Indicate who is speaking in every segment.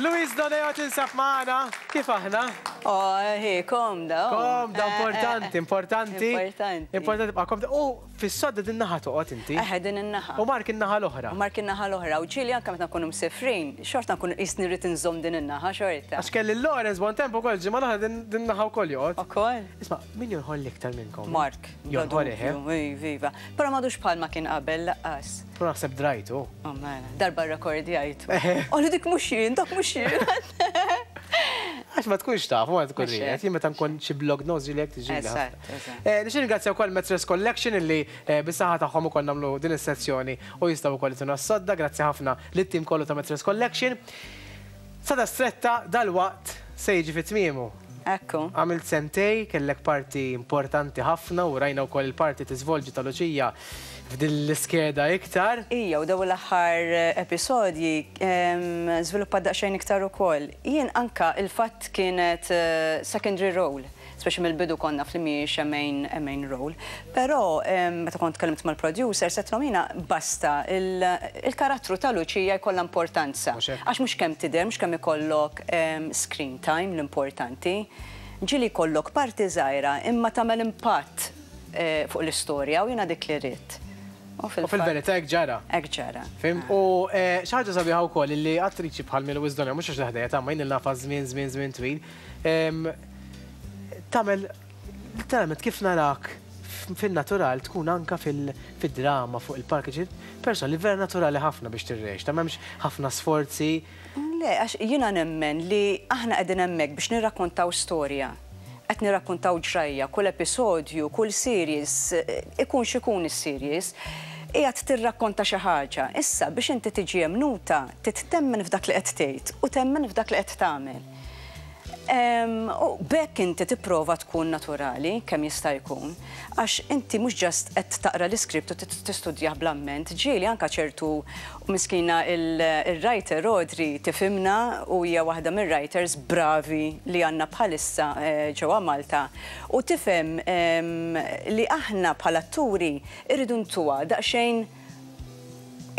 Speaker 1: Louise Doneo tinsab magħna, kif aħna?
Speaker 2: Oh, hi, komda.
Speaker 1: Oh. Komda, importanti, importanti.
Speaker 2: Importanti.
Speaker 1: Importanti tibqa' komda. U fis-sodda din naħa toqgħod inti.
Speaker 2: Eħe, din in-naħa.
Speaker 1: U Mark in-naħa l-oħra.
Speaker 2: U Mark in-naħa l-oħra. U ġieli anke meta nkunu msefrin, xorta nkun qisni rrid inżomm din in-naħa xorta.
Speaker 1: Għax kelli Lawrence bon tempo ukoll ġimgħa l-oħra din naħa wkoll joqgħod.
Speaker 2: Ukoll?
Speaker 1: Isma' min jonħol l-iktar minnkom?
Speaker 2: Mark.
Speaker 1: Jonħol eħe.
Speaker 2: Iva. Però m'għadux bħalma kien qabel laqqas.
Speaker 1: Però naħseb drajtu.
Speaker 2: Oh mela, darba rrekordjajtu. Qalli dik mhux jien, dak mhux jien.
Speaker 1: Għax ma tkunx taf, ma tkun ried. Jien meta nkun xi blog notes ġieli hekk tiġi.
Speaker 2: Eżatt, eżatt.
Speaker 1: Nixtieq ningrazzja wkoll Mattress Collection illi bis-saħħa tagħhom ukoll nagħmlu din is-sezzjoni u jistgħu wkoll jtuna s-sodda. Grazzi ħafna lit-tim kollu ta' Mattress Collection. Sada Stretta dalwaqt se jiġi fi tmiemu.
Speaker 2: Ekku.
Speaker 1: Għamilt sentej, kellek parti importanti ħafna u rajna wkoll il-parti tiżvolġi ta' Luċija f'din l-iskeda iktar.
Speaker 2: Ija, u dawn l-aħħar episodji żviluppat daqsxejn iktar ukoll. Jien anka il-fatt kienet secondary role, speċi mill-bidu konna naf li mhijiex a main, a main role. Però meta kont tkellimt mal-producers għedtilhom jiena basta il-karattru ta' Luċija jkollha importanza. Għax mhux kemm tidher, mhux kemm ikollok screen time l-importanti. Ġieli jkollok parti żgħira imma tagħmel impatt fuq l-istorja u jiena dik li ridt.
Speaker 1: U fil-verità hekk ġara.
Speaker 2: Hekk ġara.
Speaker 1: Fhimt? U xi ħaġa sabiħa wkoll illi attriċi bħal Milo Wisdom, mhux għax ħdejja ta' ma jien nafha żmien żmien żmien twil, tagħmel literalment kif narak fin-natural tkun anka fid-drama fuq il-palk, persona li vera naturali ħafna biex tirreċta, m'hemmx ħafna sforzi.
Speaker 2: Le, għax jiena nemmen li aħna qegħdin hemmhekk biex nirrakkontaw storja. Qed nirrakkontaw ġrajja, kull episodju, kull series, ikun x'ikun is-series, qiegħed tirrakkonta xi ħaġa. Issa, biex inti tiġi emmnuta, trid temmen f'dak li qed tgħid u temmen f'dak li qed tagħmel. U b'hekk inti tipprova tkun naturali kemm jista' jkun, għax inti mhux just qed taqra l-iskript u tistudjah bl-amment, ġieli anke ċertu, miskina il-writer Audrey tifhimna u hija waħda mir-writers bravi li għandna bħalissa ġewwa Malta u tifhem li aħna bħala atturi rridu ntuha daqsxejn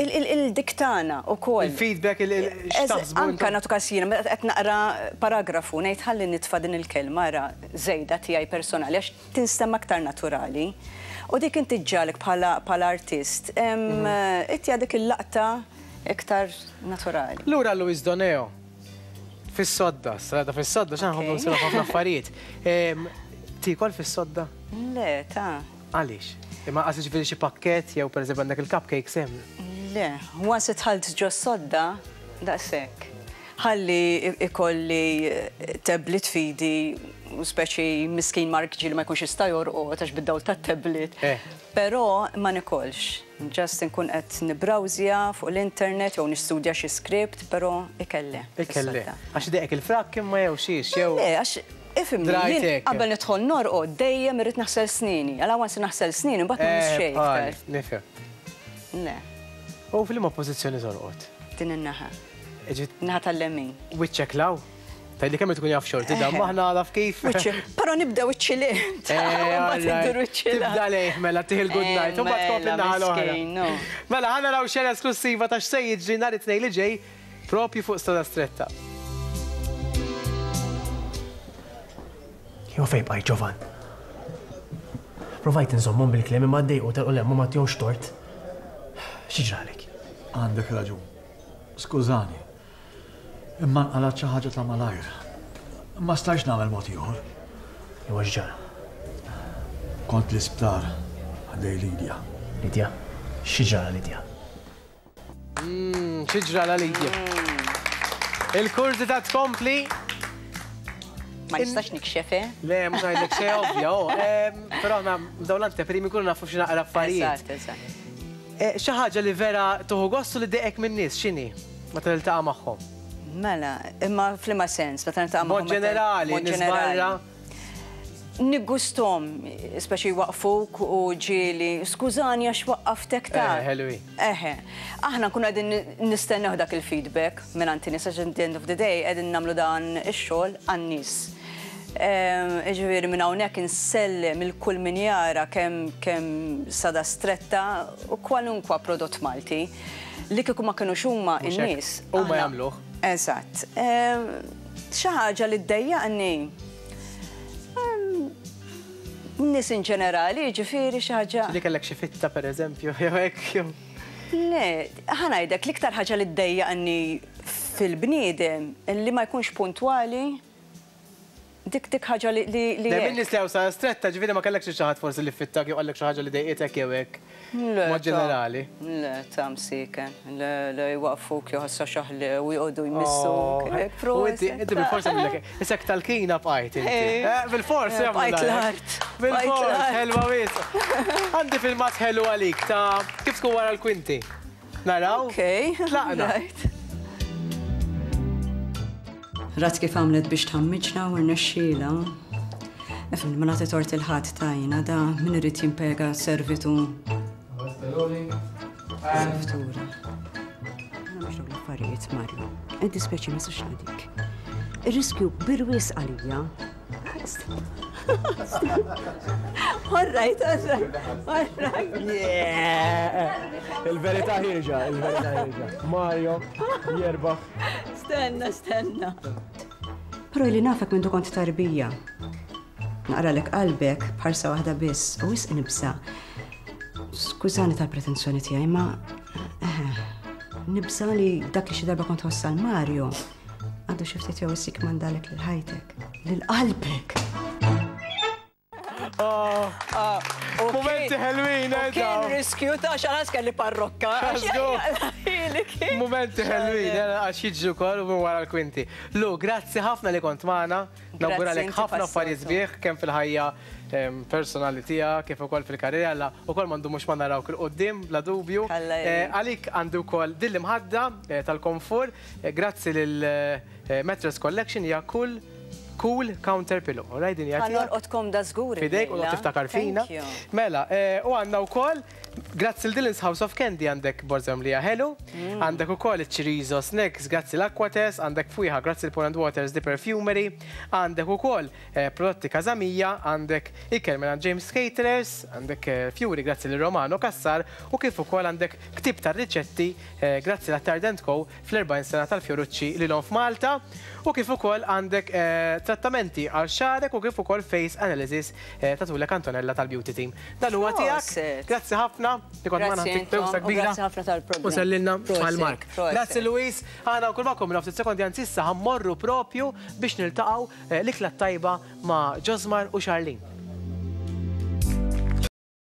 Speaker 2: il-dik tagħna wkoll.
Speaker 1: Il-feedback, x'taħsbu.
Speaker 2: Anke nagħtu każ jiena meta qed naqra paragrafu ngħid ħalli nitfa' din il-kelma ara żejda tiegħi personali għax tinstema' aktar naturali. U dik inti ġġagħlek bħala artist ittiha dik il-laqta iktar naturali.
Speaker 1: Lura għal Louise Doneo. Fis-sodda, strada fis-sodda, x'aħna nħobbu nsiru ħafna affarijiet. Tiekol fis-sodda?
Speaker 2: Le, ta'.
Speaker 1: Għaliex? Imma qas jiġifieri xi pakkett jew pereżempju għandek il-cupcakes hemm?
Speaker 2: Le, once idħalt ġos-sodda, daqshekk. Ħalli ikolli tablet f'idi u speċi miskin Mark ġieli ma jkunx jista' jorqod għax bid-dawl tat-tablet. Però ma nikolx. Just inkun qed nibbrawżja fuq l-internet jew nistudja xi script, però ikel le.
Speaker 1: Ikel le. Għax idejqek il-frakk imma jew xiex jew.
Speaker 2: Le, għax ifhimni, jien qabel nidħol norqod dejjem irrid naħsel snieni. Għala once naħsel snieni mbagħad ma nmiss xejn iktar.
Speaker 1: Nifhem.
Speaker 2: Le.
Speaker 1: U f'liema pożizzjoni torqod?
Speaker 2: Din in-naħa. Naħa tal-lemin.
Speaker 1: Wiċċek 'l hawn? Tgħidli kemm tkun jaf xorti dan, maħna għalaf kif.
Speaker 2: Però nibda wiċċi lejh.
Speaker 1: Tibda lejh mela tih il-good night, u mbagħad tkompli n-naħa l-oħra. Mela ħa naraw xena esklussiva ta' x'se jiġri nhar it-Tnejn li ġej propju fuq Strada Stretta.
Speaker 3: Jew fejn bqajt Ġovan? Provajt inżommhom bil-kliem imma ddejqu telqu 'l hemm u ma tihomx tort. Xi ġralek?
Speaker 4: Għandek raġun. Skużani. Imma nqalgħet xi ħaġa ta' malajr. Ma stajtx nagħmel mod ieħor.
Speaker 3: Iwa x'ġara?
Speaker 4: Kont l-isptar ħdej Lidja.
Speaker 3: Lidja? Xi ġralha Lidja?
Speaker 1: Umm, xi ġralha Lidja? Il-kurżità tkompli.
Speaker 2: Ma nistax nikxef, eh?
Speaker 1: Le, mhux ngħidlek xejn ovvja, oh. Però aħna dawn l-anteprimi nkunu nafu xi naqra affarijiet.
Speaker 2: Eżatt, eżatt.
Speaker 1: Xi ħaġa li vera tieħu gost u li ddejqek min-nies x'inhi meta tiltaqa' magħhom?
Speaker 2: Mela, imma f'liema sens, meta niltaqa' magħhom?
Speaker 1: Mod ġenerali, nies barra.
Speaker 2: Niggusthom, speċi jwaqqfuk u ġieli, skużani għax waqqaftek ta'.
Speaker 1: Eħe, ħelwi.
Speaker 2: Eħe. Aħna nkunu qegħdin nistennew dak il-feedback mingħand in-nies għax at the end of the day qegħdin nagħmlu dan ix-xogħol għan-nies. Jiġifieri minn hawnhekk insellem lil kull min jara kemm kemm Sada Stretta u kwalunkwa prodott Malti li kieku ma kinux huma n-nies.
Speaker 1: Huma jagħmluh.
Speaker 2: Eżatt. Xi ħaġa li ddejjaqni nies in ġenerali, jiġifieri xi ħaġa.
Speaker 1: Li kellek xi fitta pereżempju, jew hekk jew.
Speaker 2: Le, ħa ngħidlek l-iktar ħaġa li ddejjaqni fil-bniedem li ma jkunx puntwali. Dik dik ħaġa li li li.
Speaker 1: Dejjem in-nies li hawn sara stretta, ġifieri ma kellekx lil xi ħadd forsi li fittak jew qallek xi ħaġa li dejqitek jew hekk.
Speaker 2: Le.
Speaker 1: B'mod ġenerali.
Speaker 2: Le, ta' msieken. Le, le, jwaqqfuk jew ħassa xaħle u joqogħdu jmissuk. Hekk
Speaker 1: U inti, inti bilfors għamlilek, isek tal-kina bqajt inti. Bilfors jagħmlu.
Speaker 2: Bqajt l-art.
Speaker 1: Bilfors, ħelwa wisq. Għandi filmat ħelu għalik ta' kif tkun wara l-kwinti. Naraw?
Speaker 2: Ok.
Speaker 1: Tlaqna.
Speaker 2: Rat kif għamlet biex tħammiġna u rnexxielha. Ifhem, ma nagħti tort il ħadd ta' jiena da min irid jimpjega servitu. Servitura. Jiena mhux dawn l-affarijiet, Mario. Iddispjaċi ma nistax nagħtik. Ir-riskju kbir wisq għalija. All right, all right, all right.
Speaker 3: Yeah! Il-verità ħirġa, il-verità ħirġa. Mario jerbaħ.
Speaker 2: Stenna, stenna. Però li nafek minn kont tarbija. Naqralek qalbek b'ħarsa waħda biss u wisq nibsa. Skużani tal-pretenzjoni tiegħi, ma eh, nibsa li dak li xi darba kont ħossa l-Mario għandu xi ftit jew issik mandalek lil ħajtek, lil qalbek.
Speaker 1: Oh.
Speaker 2: Ah,
Speaker 1: Mumenti ħelwin, eh,
Speaker 2: Kien riskju ta' xalas kelli parrokka.
Speaker 1: Mumenti ħelwin, eh, għax jiġu kol u wara l-kwinti. Lu, grazzi ħafna li kont magħna. Nawguralek ħafna affarijiet sbieħ kemm fil-ħajja personali tiegħek kif ukoll fil-karriera la ukoll ma ndumux ma narawk il-qudiem bla dubju. Eh, għalik għandu wkoll din l-imħadda tal-komfur, grazzi lil Mattress Collection hija kull Cool counter pillow. All right, din hija
Speaker 2: tiegħek. Ħa norqod komda żgur.
Speaker 1: Fidejk u tiftakar fina. Mela, eh, u għandna wkoll grazzi l Dylan's House of Candy għandek borża mlija ħelu, mm. għandek ukoll iċ-chorizo snacks grazzi l-Aquates, għandek fwiħa grazzi l-Poland Waters The Perfumery, għandek ukoll eh, prodotti Kazamija, għandek ikel minn James Caterers, għandek eh, fjuri grazzi l Romano Kassar u kif ukoll għandek ktib tar-riċetti grazzi l Tardent Co fl-40 sena tal-Fiorucci lilhom f'Malta u kif ukoll għandek trattamenti għal xagħrek u kif ukoll face analysis tagħtulek Antonella tal-Beauty Team. Dan huwa tiegħek. Grazzi ħafna li kont magħna ntik bewsa kbira.
Speaker 2: Grazzi ħafna tal-programm.
Speaker 1: U sellilna għal Mark. Grazzi Louise. Aħna wkoll magħkom minn ftit sekondi anzi issa ħa mmorru propju biex niltaqgħu l-ikla t-tajba ma' Josmar u Charlene.